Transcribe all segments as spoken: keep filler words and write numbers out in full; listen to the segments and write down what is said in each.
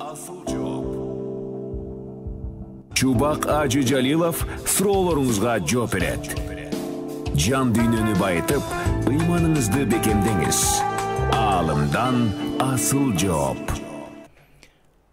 Асыл жооп. Чубак Ажы Жалилов суроолоруңузга жооп берет. Жан дүйнөнү байытып, ыйманыңызды бекемдеңиз. Аалымдан асыл жооп.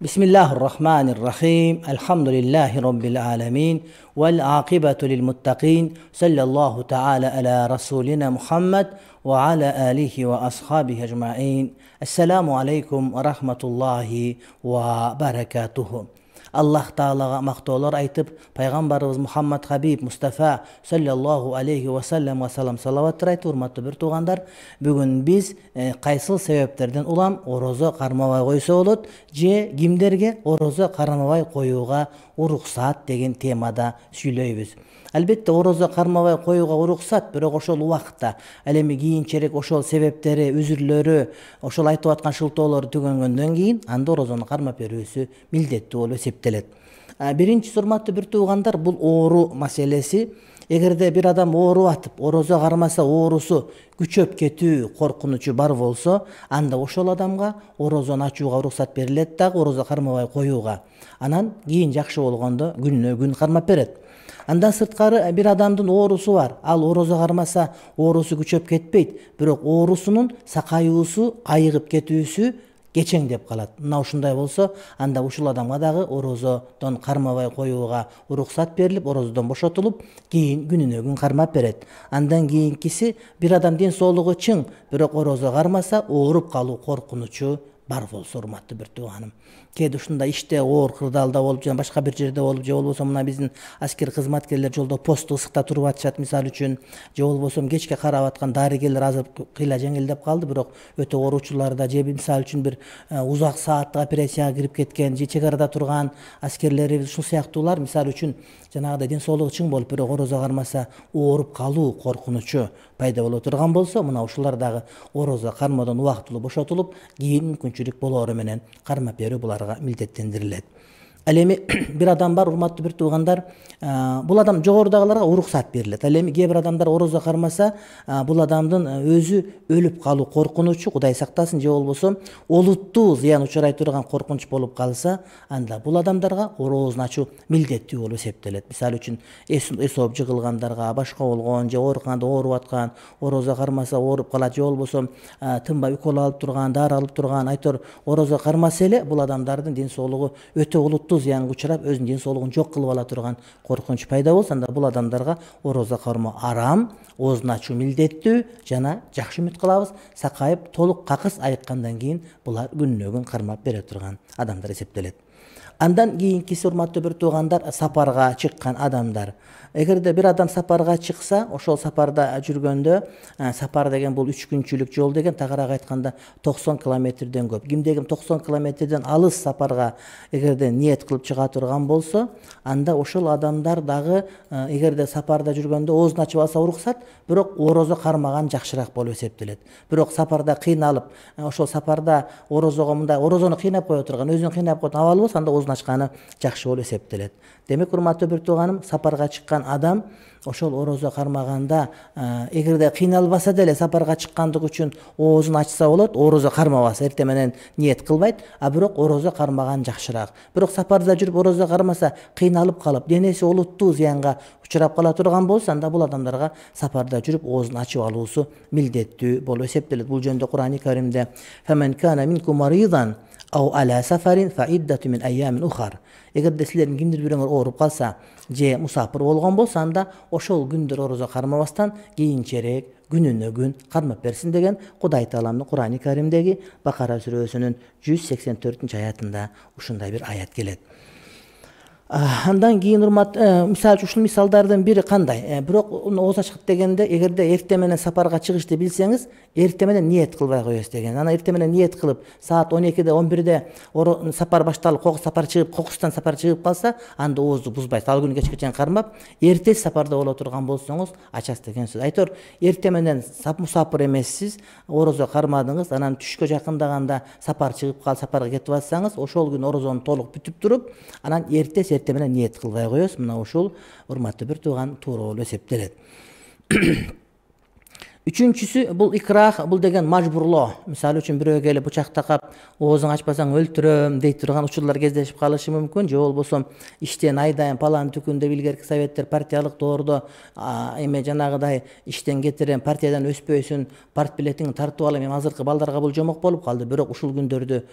Бисмиллахир-рахманир-рахим. Алхамдулиллахи роббил аламин. Вал акибату лил муттакин. Саллаллаху та'ала аля расулина Мухаммад ва аля алихи ва асхабихи ажмаин. Ассаламу алейкум ва рахматуллахи ва баракатуху. Аллах Таалага мактоолор айтып, пайгамбарыбыз Мухаммад Хабиб Мустафа саллаллаху алейхи ва саллям ва салам салаваттар айтып, урматтуу бир туугандар, бүгүн биз кайсыл себептерден улам орозо кармабай койсо болот же кимдерге орозо кармабай коюуга уруксат деген темада сүйлөйбүз. Албетте орозо кармабай коюуга уруксат, бирок ошол убакытта ал эми кийинчерээк ошол себептери, үзүрлөрү, ошол айтып аткан шылтоолорду түгөнгөндөн кийин анда орозону кармап берүүсү милдеттүү болуп эсептелет. Биринчи, урматтуу бир туугандар, бул оору маселеси. Эгерде бир адам ооруп атып, орозо кармаса оорусу күчөп кетүү коркунучу бар болсо, анда ошол адамга орозону ачууга уруксат берилет дагы, орозо кармабай коюуга. Анан кийин жакшы болгондо күнүнө күн кармап берет. Андан сырткары бир адамдын оорусу бар. Ал орозо кармаса оорусу күчөп кетпейт, бирок оорусунун сакайуусу, айыгып кетүүсү кечеңдеп калат. Мына ушундай болсо, анда ушул адамга дагы орозодон кармабай коюуга уруксат берилип, орозодон бошотулуп, кийин күнүнө күн кармап берет. Андан кийинкиси, бир адам ден соолугу чың, бирок орозо кармаса ооруп калуу коркунучу бар болсо, урматтуу бир тууганым. Кээде ушундай иште оор кырдаалда болуп, жана башка бир жерде болуп, же болбосо мына биздин аскер кызматкерлер жолдо посту ысыкта туруп атышат мисалы үчүн, же болбосо кечке карап аткан дарыгерлер азыр кыйла жеңилдеп калды, бирок өтө ооручуларда, же мисалы үчүн бир узак сааттык операцияга кирип кеткен, же чек арада турган аскерлерибиз, ушул сыяктуулар мисалы үчүн жанагыдай ден соолугу чың болуп, бирок орозо кармаса ооруп калуу коркунучу пайда боло турган болсо, мына ушулар дагы орозо кармоодон убактылуу бошотулуп, кийин мүмкүнчүлүк болоору менен кармап берүү буларга милдеттендирилет. Ал эми бир адам бар, урматтуу бир туугандар, бул адам жогорудагыларга уруксат берилет. Ал эми кээ бир адамдар орозо кармаса, бул адамдын өзү өлүп калуу коркунучу, Кудай сактасын, же болбосо олуттуу зыян учурай турган коркунуч болуп калса, анда бул адамдарга орозону ачуу милдеттүү болуп эсептелет. Мисалы үчүн эс ооп жыгылгандарга, башка болгон, же ооруканада ооруп аткан, орозо кармаса ооруп калат, же болбосо тынбай укол алып турган, дары алып турган, айтор орозо кармаса эле бул адамдардын ден соолугу өтө олуттуу зыянга учурап, өзүнүн ден соолугун жок кылып ала турган коркунуч пайда болсо, анда бул адамдарга орозо кармоо арам, оозун ачуу милдеттүү, жана жакшы үмүт кылабыз, сакайып толук какыс айыккандан кийин булар күнүнө күн кармап бере турган адамдар эсептелет. Андан кийинкиси, урматтуу бир туугандар, сапарга чыккан адамдар. Эгерде бир адам сапарга чыкса, ошол сапарда жүргөндө, сапар деген бул үч күнчүлүк жол деген, тагыраак айтканда токсон километрден көп. Кимде ким токсон километрден алыс сапарга эгерде ниет кылып чыга турган болсо, анда ошол адамдар дагы эгерде сапарда жүргөндө оозун ачып алса уруксат, бирок орозо кармаган жакшыраак болуп эсептелет. Бирок сапарда кыйналып, ошол сапарда орозого мындай орозону кыйнап кое турган, өзүн кыйнап койгон абал болсо, анда оозун ачканы жакшы болуп эсептелет. Демек, урматтуу бир тууганым, сапарга чыккан адам ошол орозо кармаганда, эгерде кыйналбаса деле сапарга чыккандык үчүн оозун ачса болот, орозо кармабаса, эртең менен ниет кылбайт, а бирок орозо кармаган жакшыраак. Бирок сапарда жүрүп орозо кармаса, кыйналып калып, денеси олуттуу зыянга учурап кала турган болсо, анда бул адамдарга сапарда жүрүп оозун ачып алуусу милдеттүү болуп эсептелет. Бул жөнүндө Кур'ан-ы Каримде "Фаман кана минкум маридан ау ала сафарин фа иддату мин айямин ухар". Эгерде силердин кимдир бирөөңөр ооруп калса, же мусапыр болгон болсо, анда ошол күндөр орозо кармабастан кийинчерээк күнүнө күн кармап берсин деген Кудай Тааланын Кур'ан-ы Каримдеги Бакара сүрөсүнүн жүз сексен төртүнчү аятында ушундай бир аят келет. Андан кийин, урмат, мисалы ушул мисалдардын бири кандай? Бирок ооз ачкыт дегенде, эгерде эртең менен сапарга чыгышты билсеңиз, эртең менен ниет кылбай коесуз деген. Анан эртең менен ниет кылып, саат он экиде, он бирде сапар башталып, кокус сапар чыгып, кокустан сапар чыгып калса, анда оозду бузбайсыз. Ал күнү кечке чейин кармап, эртеси сапарда боло турган болсоңуз, ачасыз деген сөз. Айтор, эртең менен мусапыр эмессиз, орозо кармадыңыз, анан түшкө жакындаганда сапар чыгып калып, сапарга кетип атсаңыз, ошол күнү орозону толук бүтүп туруп, анан эртеси эртең менен ниет кылбай коесуз. Мына ушул, урматтуу бир тууган, туура болуп эсептелет. Үчүнчүсү бул икрах, бул деген мажбурлоо. Мисалы үчүн бирөө келип бычак такап оозуң ачпасаң өлтүрөм дей турган учурлар кездешип калышы мүмкүн. Же болбосо иштен айдайын палан түкүн деп илгерки советтер партиялык доордо эме жанагыдай иштен кетирем, партиядан өспөйсүн, партбилетиңди тартып алам. Эми азыркы балдарга бул жомок болуп калды. Бирок ушул күндөрдү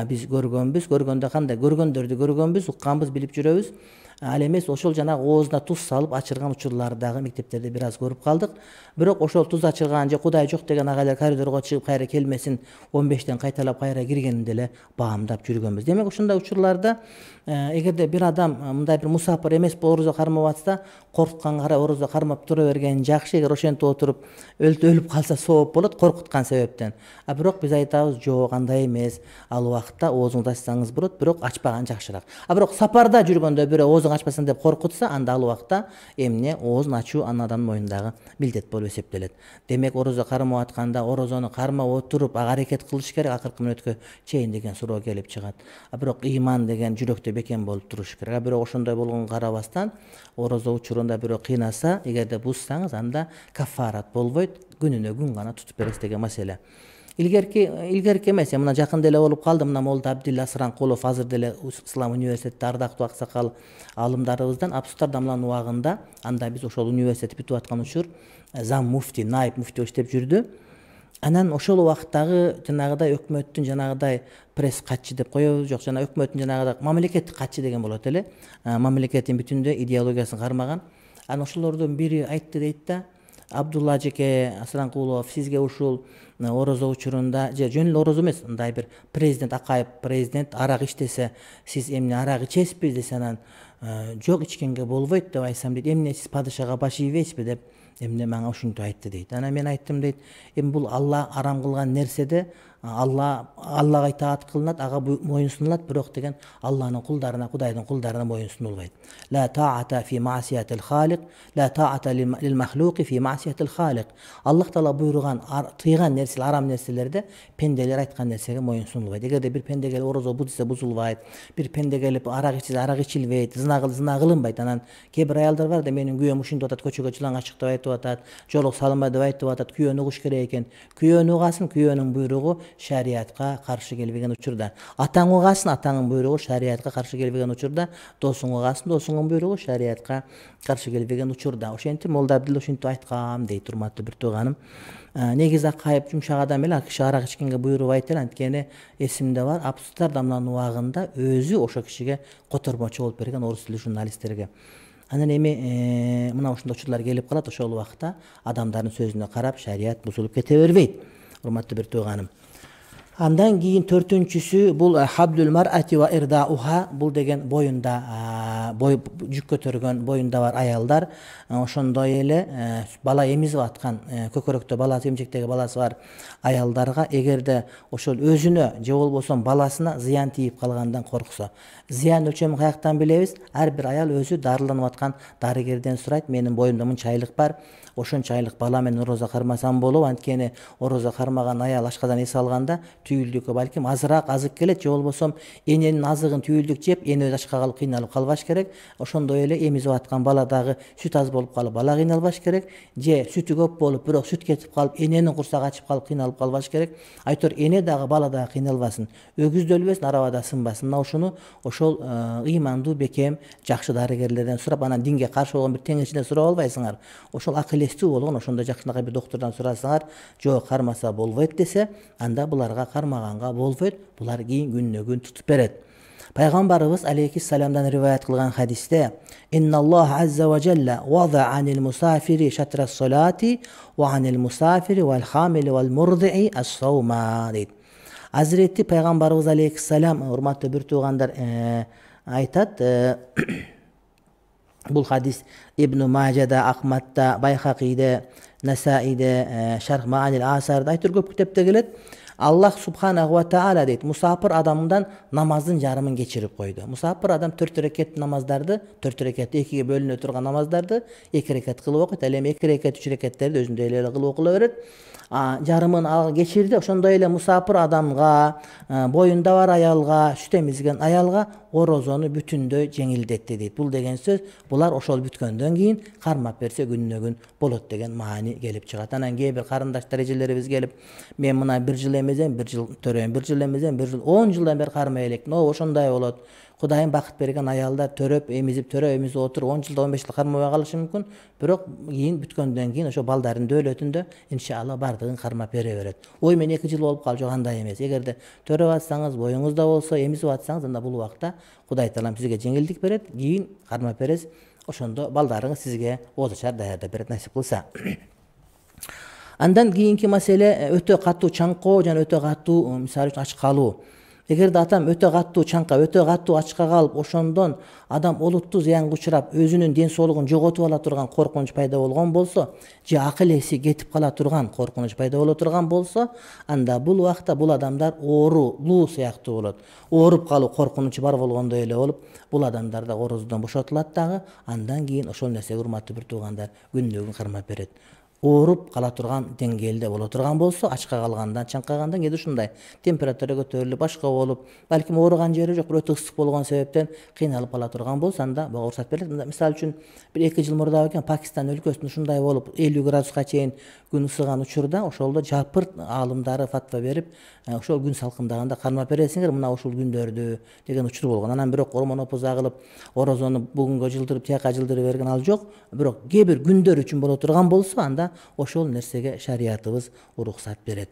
биз көргөнбүз. Көргөндө кандай? Көргөндөрдү көргөнбүз, укканбыз, билип жүрөбүз. Ал эмес ошол жанагы оозуна туз салып ачырган учурларды дагы мектептерде бир аз көрүп калдык. Бирок ошол туз ачырган же Кудай жок деген агайлар коридорго чыгып кайра келмесин, он бештен кайталап кайра киргенин деле баамдап жүргөнбүз. Демек ушундай учурларда эгерде бир адам мындай бир мусапыр эмес орозо кармап атса, коркутканга карай орозо кармап тура берген жакшы. Эгер ошентип отуруп өлүп калса сооп болот коркуткан себептен. А бирок биз айтабыз, жок, андай эмес. Ал убакытта оозуңду ачсаңыз болот, бирок ачпаган жакшыраак. А бирок сапарда жүргөндө бирөө оозуң ачпасын деп коркутса, анда ал убакта эмне оозун ачуу анын адамдын моюндагы милдет болуп эсептелет. Демек орозо кармап атканда орозону кармап отуруп аракет кылыш керек, акыркы мүнөткө чейин деген суроо келип чыгат. А бирок ыйман деген жүрөктө бекем болуп туруш керек. А бирок ошондой болгонго карабастан орозо учурунда бирөө кыйнаса, эгерде бузсаңыз, анда кафарат болбойт, күнүнө күн гана тутуп бересиз деген маселе. Илгерки илгерки эмес, мына жакында эле болуп калды. Мына Молда Абдилла Сыранкулов азыр деле Ислам университетте ардактуу аксакал алымдарыбыздан Амстердамдын убагында, анда биз ошол университет бүтүп аткан учур зам муфти, найб муфти иштеп жүрдү. Анан ошол убактагы жанагыдай өкмөттүн жанагыдай пресс катчы деп коебуз, жок, жана өкмөттүн жанагыдай мамлекеттик катчы деген болот эле. Мамлекеттин бүтүндөй идеологиясын кармаган. Анан ошолордун бири айтты дейт да: Абдулла ажеке Сыранкулов, сизге ушул орозо учурунда, же жөн эле орозо эмес, мындай бир президент Акаев президент арак иштесе, сиз эмне арак ичесизби десе, анан жок, ичкенге болбойт деп айтсам дейт, эмне сиз падышага баш ийбейсизби деп эмне мага ушинтип айтты дейт. Анан мен айттым дейт, эми бул Алла арам кылган нерседе Алла Аллага итаат кылынат, ага моюн сунулат, бирок деген Алланын кулдарына, Кудайдын кулдарына моюн сунулбайт. Ла таата фи маасиятил халик, ла таата лил махлуqi фи маасиятил халик. Аллах Таала буйруган, тыйган нерселер, арам нерселерде пенделер айткан нерсеге моюн сунулбайт. Эгерде бир пенде келип орозо бузса бузулбайт, бир пенде келип арак ичсе арак ичилбейт, зына кыл зына кылынбайт. Анан кээ бир аялдар бар да, менин күйөөм ушинтип атат, көчөгө чылаңга чык деп айтып атат, жолук салынбай деп айтып атат, күйөөнү угуш керек экен. Күйөөнү угасын, күйөөнүн буйругу шариатка каршы келбеген учурда. Атаң угасын, атаңын буйругу шариатка каршы келбеген учурда. Досуң угасын, досуңун буйругу шариатка каршы келбеген учурда. Ошентип Молда Абдилла ушинтип айткан дейт, урматтуу бир тууганым. Негизи Акаев жумшак адам эле, киши арак ичкенге буйрубайт эле. Анткени эсимде бар, Амстердамдын убагында өзү ошо кишиге котормочу болуп берген орус тилдүү журналисттерге. Анан эми мына ушундай учурлар келип калат. Ошол убакта адамдардын сөзүнө карап шарият бузулуп кете бербейт, урматтуу бир тууганым. Андан кийин төртүнчүсү бул хабдул мар'ати ва ирдауха, бул деген боюнда бой жүк көтөргөн, боюнда бар аялдар, ошондой эле бала эмизип аткан, көкөрөктө баласы, эмчектеги баласы бар аялдарга эгерде ошол өзүнө же болбосо баласына зыян тийип калгандан корксо, зыян өлчөмүн каяктан билебиз? Ар бир аял өзү дарыланып аткан дарыгерден сурайт, менин боюмда мынча бар, ошончо айлык бала менен орозо кармасам болобу? Анткени орозо кармаган аял ашказан эс алганда түйүлдүккө балким азыраак азык келет, же болбосо эненин азыгын түйүлдүк жеп, эне өзү ачка калып кыйналып калбаш керек. Ошондой эле эмизип аткан бала дагы сүт аз болуп калып бала кыйналбаш керек, же сүтү көп болуп бирок сүт кетип калып эненин курсагы ачып калып кыйналып калбаш керек. Айтор эне дагы бала дагы кыйналбасын, өгүз да өлбөсүн, арабада сынбасын. Мына ушуну ошол ыймандуу бекем жакшы дарыгерлерден сурап, анан динге каршы болгон бир теңирчиден сурап албайсыңар. Ошол акылестүү болгон ошондой жакшынакай бир доктурдан сурасаңар, жок кармаса болбойт десе, анда буларга кармаганга болбойт, булар кийин күнүнө күн тутуп берет. Пайгамбарыбыз алейхиссаламдан риваят кылган хадисте: "Инналлах азза ва жалла вада анил мусафири шатра ас-салати ва анил мусафири вал хамили вал мурдии ас-саума" дейт. Азирети пайгамбарыбыз алейхиссалам, урматтуу бир туугандар, айтат, бул хадис Ибн Мажада, Ахмадда, Байхакиде, Насаиде, Шарх Маанил Асарда, айтыр көп китепте келет. Аллах субханаху ва таала дейт, мусафир адамдан намаздын жарымын кечирип койду. Мусафир адам төрт рекет намаздарды, төрт рекет экиге бөлүнө турган намаздарды эки рекет кылып окуйт. Ал эми эки рекет, үч рекеттерди өзүндөй эле кылып окула берет. Жарымын ал кечирди. Ошондой эле мусафир адамга, боюнда бар аялга, сүт эмизген аялга орозону бүтүндөй жеңилдетти дейт. Бул деген сөз булар ошол бүткөндөн кийин кармап берсе күнүнө күн болот деген маани келип чыгат. Анан кээ бир карындаштар эжелерибиз келип, мен мына бир жыл эмезем, бир жыл төрөйм, бир жыл эмезем, бир жыл он жылдан бери кармай элекмин. О, ошондой болот. Кудайым бакыт берген аялдар төрөп, эмизип, төрөп, эмизип отуруп он жылда он беш жыл кармабай калышы мүмкүн. Бирок кийин бүткөндөн кийин ошо балдардын дөөлөтүндө иншалла бардыгын кармап бере берет. Ой, мен эки жыл болуп калды, жок, андай эмес. Эгерде төрөп атсаңыз, боюңузда болсо, эмизип атсаңыз, анда бул убакта Кудай Таалам сизге жеңилдик берет, кийин кармап бересиз. Ошондо балдарыңыз сизге оозачар даярдап берет, насип кылса. Андан кийинки маселе өтө катуу чаңкоо жана өтө катуу, мисалы үчүн, ач калуу. Эгерде адам өтө катуу чаңка, өтө катуу ачка калып, ошондон адам олуттуу зыянга учурап, өзүнүн ден соолугун жоготуп ала турган коркунуч пайда болгон болсо, же акыл эси кетип кала турган коркунуч пайда боло турган болсо, анда бул убакта бул адамдар оорулуу сыяктуу болот. Ооруп калуу коркунучу бар болгондой эле болуп, бул адамдар да орозодон бошотулат дагы. Андан кийин ошол нерсеге урматтуу бир туугандар күнүнө күн кармап берет. Ооруп кала турган деңгээлде боло турган болсо, ачка калгандан, чаңкагандан кээде ушундай температура көтөрүлүп, башка болуп, балким ооруган жери жок, бирок өтө ысык болгон себептен кыйналып кала турган болсо, анда буга уруксат берилет. Мисалы үчүн бир эки жыл мурда экен Пакистан өлкөсүндө ушундай болуп, элүү градуска чейин күн ысыган учурда ошолдо жапырт аалымдары фатва берип, ошол күн салкындаганда кармап бересиңер мына ушул күндөрдү деген учур болгон. Анан бирок ормонопуз агылып, орозону бүгүнгө жылдырып, тияка жылдырып берген ал жок. Бирок кээ бир күндөр үчүн боло турган болсо, анда ошол нерсеге шариятыбыз уруксат берет.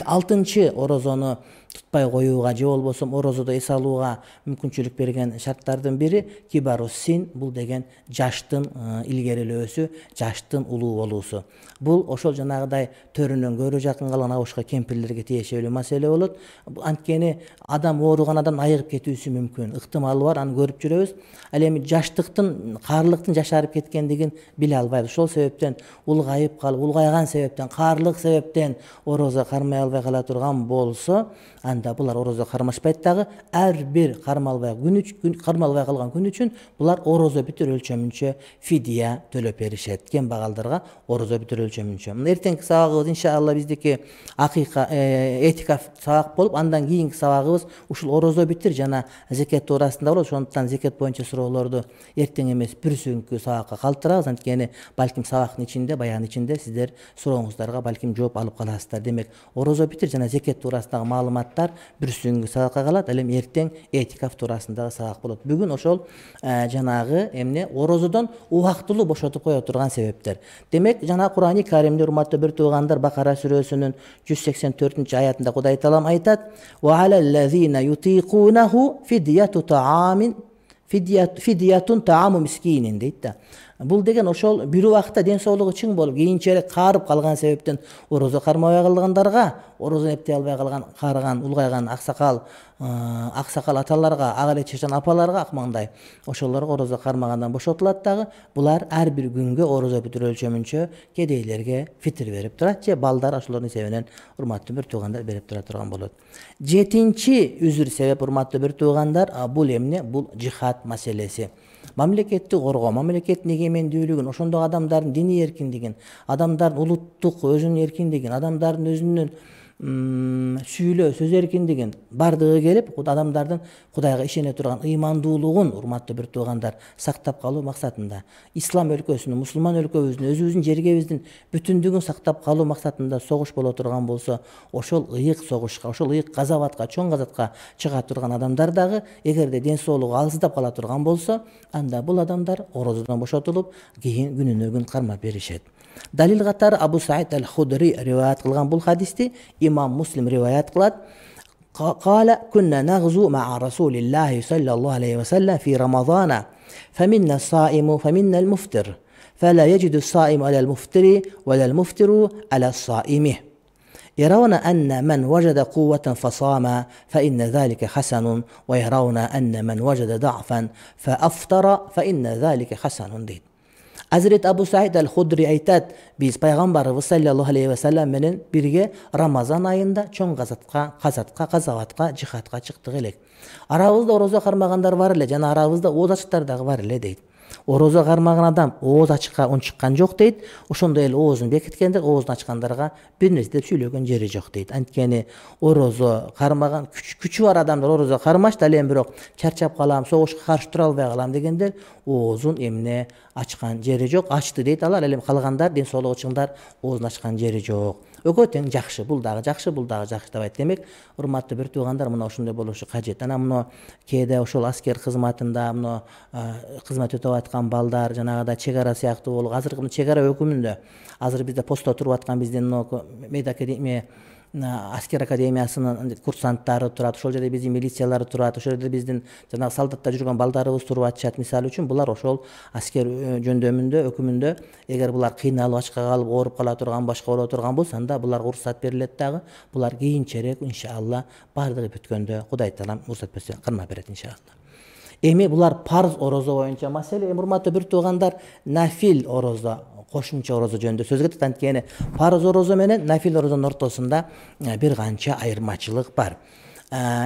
Алтынчы, орозону тутпай коюуга же болбосо орозодо эс алууга мүмкүнчүлүк берген шарттардын бири кибарус син, бул деген жаштын илгерилөөсү, жаштын улуу болуусу. Бул ошол жанагыдай төрүнөн көрө жакын калган абышка кемпирлерге тиешелүү маселе болот. Анткени адам ооруган адам айыгып кетүүсү мүмкүн, ыктымалы бар, аны көрүп жүрөбүз. Ал эми жаштыктын, каарлыктын жашарып кеткендигин биле албайбыз. Ошол себептен улгайып калып, улгайган себептен, каарлык себептен орозо кармай албай кала турган болсо, анда булар орозо кармашпайт дагы. Ар бир кармалбай күн үчүн, кармалбай калган күн үчүн булар орозо бүтүр өлчөмүнчө фидия төлөп беришет. Кембагалдарга орозо бүтүр өлчөмүнчө. Эртеңки сабагыбыз иншалла биздики акыйка этикаф сабак болуп, андан кийинки сабагыбыз ушул орозо битир жана зекет туурасында болот. Ошондуктан зекет боюнча суроолорду эртең эмес бүрсүнкү сабакка калтырабыз. Анткени балким сабактын ичинде, баяндын ичинде сиздер сурооңуздарга балким жооп алып каласыздар. Демек, орозо битир жана зекет туурасындагы маалыматтар бүрсүнкү сабакка калат. Ал эми эртең этикаф туурасындагы сабак болот. Бүгүн ошол жанагы эмне орозодон убактылуу бошотуп кое турган себептер. Демек, жана Кур'ан-ы Каримде урматтуу бир туугандар, Бакара сүрөсүнүн жүз сексен төртүнчү аятында Кудай Таалам айтат: "Ва алаллазина ютиқунаху фидияту таамин фидиятун тааму мискинин" дейт да. Бул деген ошол бир убакта ден соолугу чың болуп, кийинчерээк каарып калган себептен орозо кармабай калгандарга, орозо эптей албай калган, каарыган, улгайган аксакал, аксакал аталарга, ага эле чечен апаларга, акмаңдай ошолорго орозо кармагандан бошотулат дагы. Булар ар бир күнгө орозо бүтүр өлчөмүнчө кедейлерге фитир берип турат, же балдар ошолордун эсебинен урматтуу бир туугандар берип тура турган болот. Жетинчи үзүр себеп, урматтуу бир туугандар, бул эмне? Бул жихад маселеси. Мамлекетти коргоо, мамлекеттин эгемендүүлүгүн, ошондогу адамдардын диний эркиндигин, адамдардын улуттук өзүнүн эркиндигин, адамдардын өзүнүн сүйлөө сөз эркиндигин бардыгы келип, адамдардын Кудайга ишене турган ыймандуулугун, урматтуу бир туугандар, сактап калуу максатында, ислам өлкөсүнүн, мусулман өлкөбүздүн, өзүбүздүн жергебиздин бүтүндүгүн сактап калуу максатында согуш боло турган болсо, ошол ыйык согушка, ошол ыйык газабатка, чоң газатка чыга турган адамдар дагы эгерде ден соолугу алсыздап кала турган болсо, анда бул адамдар орозодон бошотулуп, кийин күнүнө күн кармап беришет. Далил катары Абу Саид аль-Худри риваят кылган бул хадисти имам Муслим риваят кылат. Кала кунна нагзу ма'a Расулиллахи саллаллаху алейхи ва саллям фи Рамазана, фаминна саиму фаминна аль-муфтир, фала яджиду саиму аля аль-муфтири ва ла аль-муфтиру аля саими. يرون أن من وجد قوة فصام فإن ذلك حسن ويرون أن من وجد ضعفا فأفطر فإن ذلك حسن дейт. Азирет Абу Саид аль-Худри айтат: биз пайгамбарыбыз саллаллаху алейхи ва саллям менен бирге Рамазан айында чоң газатка, казатка, казаватка, жихадка чыктык элек. Арабызда орозо кармагандар бар эле, жана арабызда оозачтар дагы бар эле дейт. Орозо кармаган адам ооз ачыкка унчуккан жок дейт. Ошондой эле оозун бекиткендер оозун ачкандарга бир нерсе деп сүйлөгөн жери жок дейт. Анткени орозо кармаган күчү бар адамдар орозо кармашт, ал эми бирок чарчап калам, согушка каршы тура албай калам дегендер оозун эмне ачкан жери жок. Ачты дейт алар, ал эми калгандар ден соолугу чыңдар оозун ачкан жери жок. Экөө тең жакшы, бул дагы жакшы, бул дагы жакшы деп айт. Демек, урматтуу бир туугандар, мына ошондой болушу кажет. Анан мына кээде ошол аскер кызматында мына кызмат өтөп аткан балдар, жанагыдай чек ара сыяктуу болуп, азыркы чек ара өкүмүндө азыр бизде постто туруп аткан биздин мейт академия аскер академиясынын курсанттары турат, ошол жерде биздин милициялар турат, ошол жерде биздин жанагы солдатта жүргөн балдарыбыз туруп атышат. Мисалы үчүн булар ошол аскер жөндөмүндө, өкүмүндө эгер булар кыйналып, ачка калып, ооруп кала турган, башка боло турган болсо, анда буларга уруксат берилет дагы. Булар кийинчерээк иншалла баардыгы бүткөндө Кудай таалам уруксат берсе кырма берет иншалла. Эми булар парз орозо боюнча маселе. Эми урматтуу бир туугандар, нафил орозо, кошумча орозо жөнүндө сөз кетет. Анткени парз орозо менен нафил орозонун ортосунда бир канча айырмачылык бар.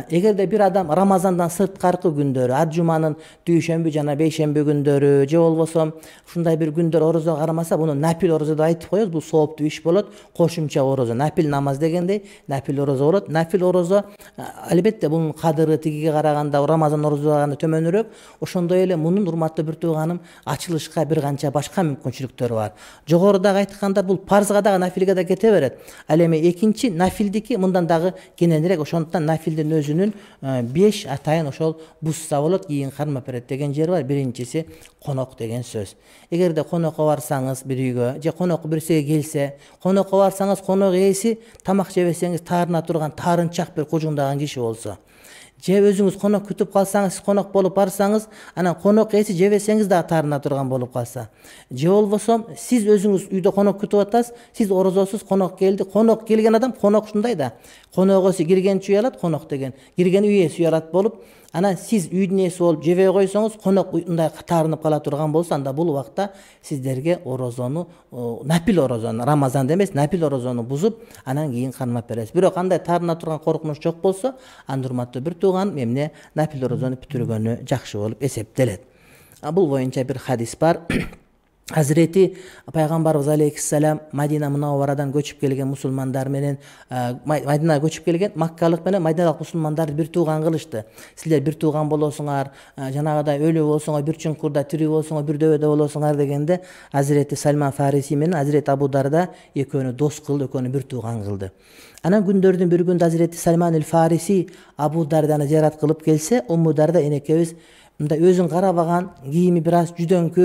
Эгерде бир адам Рамазандан сырткаркы күндөрү, ат жуманын дүйшөмбү жана бейшемби күндөрү же болбосо ушундай бир күндөр орозо кармаса, буну нафил орозо деп айтып коебуз. Бул сооптуу иш болот. Кошумча орозо, нафил намаз дегендей нафил орозо болот. Нафил орозо албетте бунун кадыры тигиге караганда, Рамазан орозого караганда төмөнүрөөк. Ошондой эле мунун урматтуу бир тууганым ачылышка бир канча башка мүмкүнчүлүктөрү бар. Жогорудагы айткандар бул парзга дагы нафилге да кете берет. Ал эми экинчи нафилдики мындан дагы кененирээк. Ошондуктан нафил өзүнүн беш атайын ошол бузса болот, кийин кармап берет деген жери бар. Биринчиси конок деген сөз. Эгерде конокко барсаңыз бир үйгө же конок бирсиге келсе, конокко барсаңыз конок ээси тамак жебесеңиз таарына турган таарынчак бир кужуңдаган киши болсо, же өзүңүз конок күтүп калсаңыз, сиз конок болуп барсаңыз, анан конок ээси жебесеңиз дагы таарына турган болуп калса, же болбосо сиз өзүңүз үйдө конок күтүп атасыз, сиз орозосуз, конок келди, конок келген адам, конок ушундай да, конок ээси киргенчи уялат, конок деген кирген үй ээси уялат болуп, анан сиз үйдүн ээси болуп жебей койсоңуз, конок мындай таарынып кала турган болсо, анда бул убакта сиздерге орозону, нафил орозону, Рамазанда эмес, нафил орозону бузуп, анан кийин кармап бересиз. Бирок андай таарына турган коркунуч жок болсо, анда урматтуу бир тууган эмне нафил орозону бүтүргөнү жакшы болуп эсептелет. Бул боюнча бир хадис бар. Hazreti Пайгамбарыбыз алейхиссалам Мадина Мунавварадан көчүп келген мусулмандар менен, Мадинага көчүп келген Маккалык менен Мадиналык мусулмандарды бир тууган кылышты. Силер бир тууган болосуңар, жанагыдай өлү болсоңор бир чуңкурда, тирүү болсоңор бир дөбөдө болосуңар дегенде, Hazreti Сальман Фариси менен Hazreti Абу Дарда экөөнү дос кылды, экөөнү бир тууган кылды. Анан күндөрдүн бир күндө Hazreti Сальман эль-Фариси Абу Дарданы зиярат кылып келсе, Умму Дарда энекебиз мындай өзүн карабаган, кийими бир аз жүдөңкү,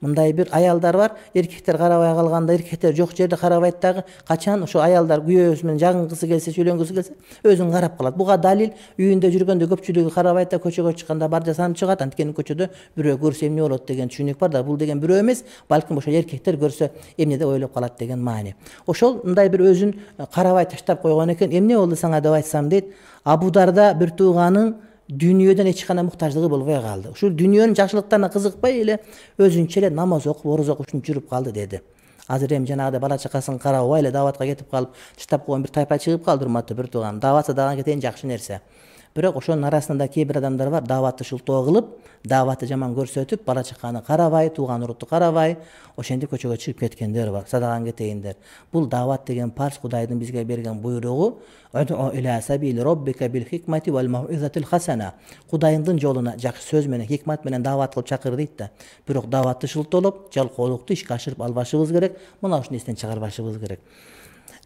мындай бир аялдар бар. Эркектер карабай калганда, эркектер жок жерде карабайт дагы, качан ошо аялдар күйөөсү менен жагынгысы келсе, сүйлөнгүсү келсе, өзүн карап калат. Буга далил үйүндө жүргөндө көпчүлүгү карабайт да, көчөгө чыкканда бар жасанып чыгат. Анткени көчөдө бирөө көрсө эмне болот деген түшүнүк бар да. Бул деген бирөө эмес, балким ошо эркектер көрсө эмне деп ойлоп калат деген маани. Ошол мындай бир өзүн карабай таштап койгон экен. Эмне болду сага деп айтсам дейт, Абу Дарда бир тууганын дүйнөдөн эч кандай муктаждыгы болбой калды. Ушул дүйнөнүн жакшылыктарына кызыкпай эле өзүнчө эле намаз окуп, ороз окуп жүрүп калды деди. Азыр эми жанагыдай бала чакасын карабай эле даватка кетип калып, таштап койгон бир тайпа чыгып калды, урматтуу бир тууган. Дават садаган кетейин жакшы нерсе. Бирок ошонун арасында кээ бир адамдар бар, даватты шылтоо кылып, даватты жаман көрсөтүп, бала чаканы карабай, тууган урутту карабай, ошентип көчөгө чыгып кеткендер бар. Садаган кетейиндер. Бул дават деген парз Кудайдын бизге берген буйругу. Кудайдын жолуна жакшы сөз менен, хикмат менен дават кылып чакыр дейт да. Бирок даватты шылтоолоп, жалкоолукту ишке ашырып албашыбыз керек. Мына ушуну эстен чыгарбашыбыз керек.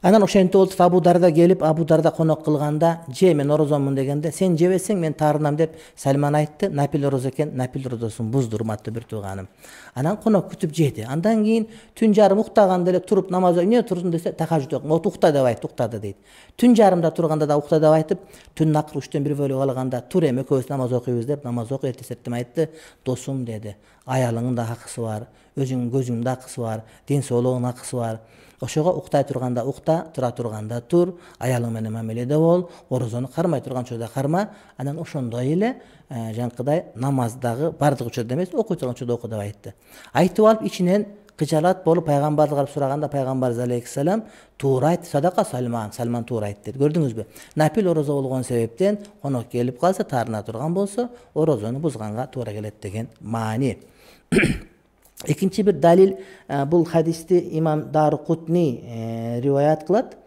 Анан ошентип болуп Абу Дарда келип, Абу Дарда конок кылганда, же мен орозомун дегенде, сен жебесең мен таарынам деп Сальман айтты. Нафил орозо экен, нафил орозосун бузду, урматтуу бир тууганым. Анан конок күтүп жеди. Андан кийин түн жарым уктаганда эле туруп намаз окуп, эмне турдуң десе, тахажжуд окуп, вот укта деп айтты, уктады дейт. Түн жарымда турганда да укта деп айтып, түн акыр үчтөн бир бөлүп алганда, тур эми экөөбүз намаз окуйбуз деп намаз окуп эртесеттим айтты. Досум деди, аялыңдын да акысы бар, өзүңдүн көзүңдүн да акысы бар, ден соолугуңдун акысы бар. Ошого уктай турганда укта, тура турганда тур, аялың менен мамиледе бол, орозону кармай турган учурда карма. Анан ошондой эле жанакыдай намаздагы бардык учурда эмес, окуй турган учурда оку деп айтты. Айтып алып ичинен кычалат болуп пайгамбарды карап сураганда пайгамбарыбыз алейхиссалам туура айтты, садака Салман, Салман туура айтты деп. Көрдүңүзбү? Нафил орозо болгон себептен конок келип калса, таарына турган болсо, орозону бузганга туура келет деген маани. Экинчи бир далил, бул хадисти имам Дарукутни риваят кылат.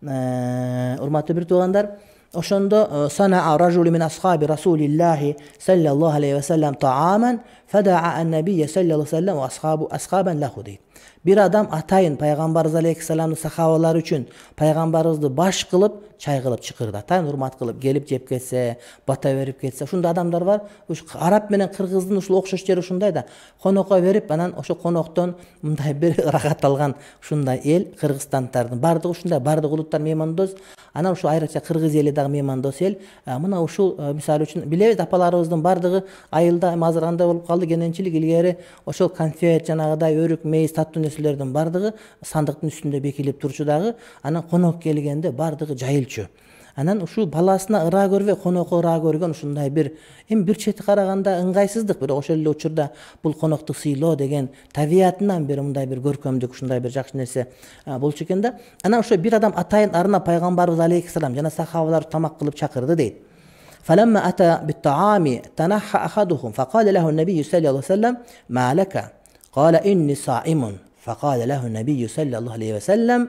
Урматтуу бир туугандар, ошондо санаа ражулу мин асхаби расулиллахи саллаллаху алейхи ва саллям тааман фадаа ан-набийя саллаллаху алейхи ва саллям ва асхабу асхабан лаху дейт. Бир адам атайын пайгамбарыбыз алейхиссаламдын сахабалары үчүн пайгамбарыбызды баш кылып, чай кылып чакырды. Атайын урмат кылып келип жеп кетсе, бата берип кетсе, ушундай адамдар бар. Уш араб менен кыргыздын ушул окшош жери ушундай да. Конокко берип, анан ошо коноктон мындай бир ырахат алган ушундай эл кыргызстандардын бардыгы ушундай, бардык улуттар меймандос. Анан ушул айрыкча кыргыз эли дагы меймандос эл. Мына ушул мисалы үчүн билебиз, апаларыбыздын бардыгы айылда азыр кандай болуп калды, кененчилик илгери ошол конфет жанагыдай өрүк, мейиз, таттуу нерселердин бардыгы сандыктын үстүндө бекилип турчу дагы. Анан конок келгенде бардыгы жайылчу. Анан ушул баласына ыраа көрбөй, конокко ыраа көргөн ушундай бир эми бир чети караганда ыңгайсыздык, бирок ошол эле учурда бул конокту сыйлоо деген табиятынан бир мындай бир көркөмдүк, ушундай бир жакшы нерсе болчу экен да. Анан ошо бир адам атайын арына пайгамбарыбыз алейхиссалам жана сахабалар тамак кылып чакырды дейт. فلما أتى بالطعام تنحى أحدهم فقال له النبي صلى الله عليه وسلم ما لك قال إني صائم فقال له النبي صلى الله عليه وسلم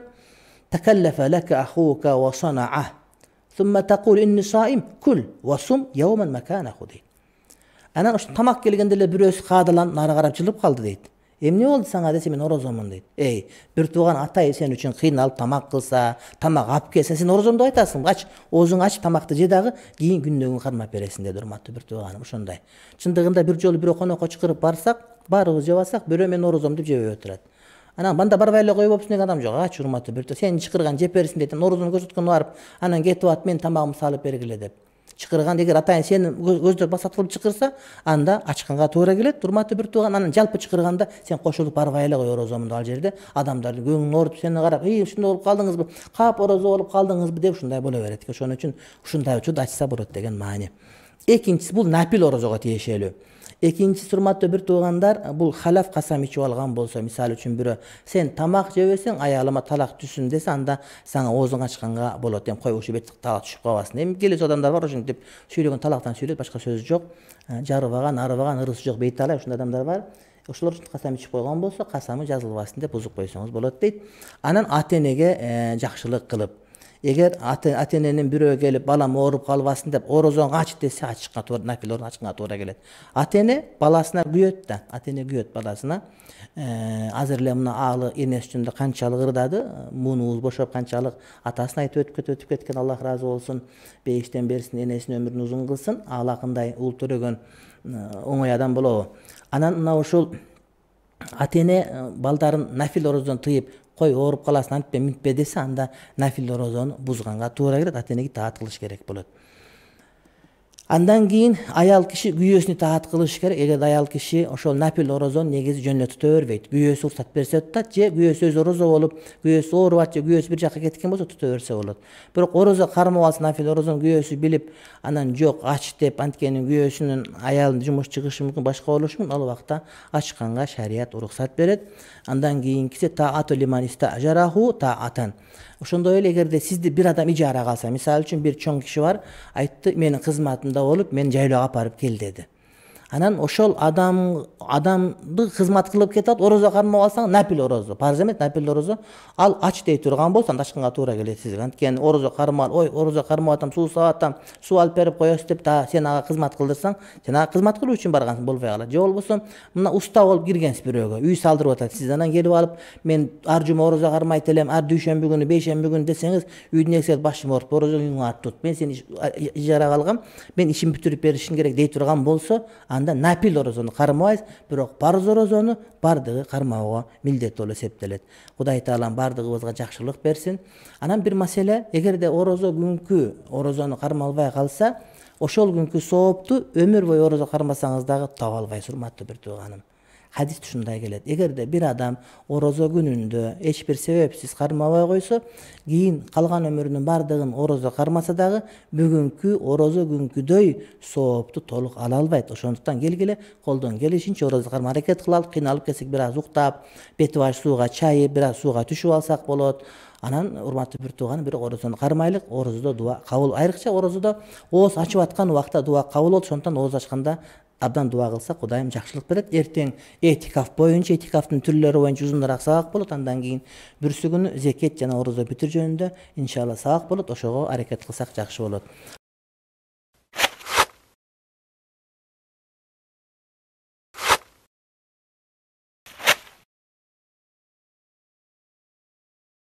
تكلف لك أخوك وصنعه ثم تقول إني صائم كل وصم يوما مكانه дейт. Анан ошо тамак келгенде эле бирөөсү каадаланып нары карап жылып калды дейт. Эмне болду сага десе, мен орозомун дейт. Эй, бир тууган атай сен үчүн кыйналып тамак кылса, тамак алып келсе, сен орозомду айтасың, ач, оозуңду ачып тамакты же дагы кийин күндөгүн күн кармап бересиң деди урматтуу бир тууганым. Ошондой. Чындыгында бир жолу бирөө конокко чакырып барсак, баарыбыз жебасак, бирөө мен орозом деп жебей отурат. Анан банда барбай эле коюп болупсуң деген адам жок. Ач урматтуу бир тууган, сен чакырган жеп берсиң дейт. Орозону көрсөткөн барып, анан кетип ат, мен тамагымды салып бергиле деп. Чакырган эгер атайын сени көздөп басат кылып чакырса, анда ачканга туура келет. Урматтуу бир тууган, анан жалпы чакырганда сен кошулуп барбай эле кой орозомду ал жерде. Адамдардын көңүлүн ооруп сени карап, "Ий, ушундай болуп калдыңызбы? Кап орозо болуп калдыңызбы?" деп ушундай боло берет. Ошон үчүн ушундай учурда ачса болот деген маани. Экинчиси бул нафил орозого тиешелүү. Экинчиси урматтуу бир туугандар, бул халаф касам ичип алган болсо, мисалы үчүн бирөө сен тамак жебесең, аялыма талак түшсүн десе, анда сага оозуң ачканга болот. Эми кой ушул бет талак түшүп калбасын. Эми келесі адамдар бар, ошентип сүйлөгөн талактан сүйлөйт, башка сөз жок. Жарыбаган, арыбаган, ырысы жок бейт алай, ушундай адамдар бар. Ошолор үчүн касам ичип койгон болсо, касамы жазылбасын деп бузуп койсоңуз болот дейт. Анан ата-энеге жакшылык кылып, эгер ата-эненин бирөө келип балам ооруп калбасын деп орозоңду ач десе, ачышка туура, нафил орун ачканга туура келет. Ата-эне баласына күйөт да, ата-эне күйөт баласына. Азыр эле мына аалы энеси үчүн канчалык ырдады, муунубуз бошоп канчалык атасын айтып өтүп кетип өтүп кеткен, Аллах ыраазы болсун, бейиштен берсин, энесинин өмүрүн узун кылсын, аалакындай ул төрөгөн оңой адам болобу. Анан мына ушул ата-эне балдарын нафил орозодон тыйып, кой ооруп каласын, антпе минтпе десе, анда нафил орозону бузганга туура келет, ата-энеге таат кылыш керек болот. Андан кийин аял киши күйөөсүнө таат кылыш керек. Эгер аял киши ошол нафил орозону негизи жөн эле тута бербейт, күйөөсү уруксат берсе тутат, же күйөөсү өзү орозо болуп, күйөөсү оорубат, же күйөөсү бир жакка кеткен болсо тута берсе болот. Бирок орозо кармап алса, нафил орозону күйөөсү билип, анан жок ач деп, анткени күйөөсүнүн аялын жумуш чыгышы мүмкүн, башка болушу мүмкүн, ал убакта ачканга шарият уруксат берет. Андан кийинкиси таату лиман истажараху таатан. Ошондой эле эгерде сизди бир адам ижарага алса, мисалы үчүн бир чоң киши бар, айтты, менин кызматымда болуп, мен жайлоого алып барып кел деди. Анан ошол адам адамды кызмат кылып кетет, орозо кармап алсаң, нафил орозо, парз эмес, нафил орозо, ал ач дей турган болсо, анда ачканга туура келет сизге. Анткени орозо кармап, ой, орозо кармап атам, суу саап атам, суу алып берип коесуз деп да сен ага кызмат кылдырсаң, сен ага кызмат кылуу үчүн баргансың, болбой калат. Же болбосо, мына уста болуп киргенсиз бирөөгө, үй салдырып атат, сиз анан келип алып, мен ар жума орозо кармайт элем, ар дүйшөмбү күнү, бейшемби күнү десеңиз, үйдүн эксел башым ооруп, орозо үйүңө ат тут. Мен сени ижарага алгам, мен ишин бүтүрүп беришим керек дей турган болсо, анда нафил орозо кармабайсыз, бирок парз орозону бардыгы кармоого милдеттүү болуп эсептелет. Кудай таалам бардыгыбызга жакшылык берсин. Анан бир маселе, эгерде орозо күнкү орозону кармалбай калса, ошол күнкү соопту өмүр бою орозо кармасаңыз дагы таба албайсыз, урматтуу бир тууганым. Хадис ушундай келет. Эгерде бир адам орозо күнүндө эч бир себепсиз кармабай койсо, кийин калган өмүрүнүн бардыгын орозо кармаса дагы бүгүнкү орозо күнкүдөй соопту толук ала албайт. Ошондуктан келгиле колдон келишинче орозо кармага аракет кылалып, кыйналып кетсек бир аз уктап, бети баш сууга чайып, бир аз сууга түшүп алсак болот. Анан урматтуу бир тууган, бир орозону кармайлык. Орозодо дуа кабыл, айрыкча орозодо ооз ачып аткан убакта дуа кабыл болот. Ошондуктан ооз ачканда абдан дуа кылсак Кудайым жакшылык берет. Эртең этикаф боюнча, этикафтын түрлөрү боюнча узунураак сабак болот. Андан кийин бүрсү күнү зекет жана орозо бүтүр жөнүндө иншалла сабак болот. Ошого аракет кылсак жакшы болот.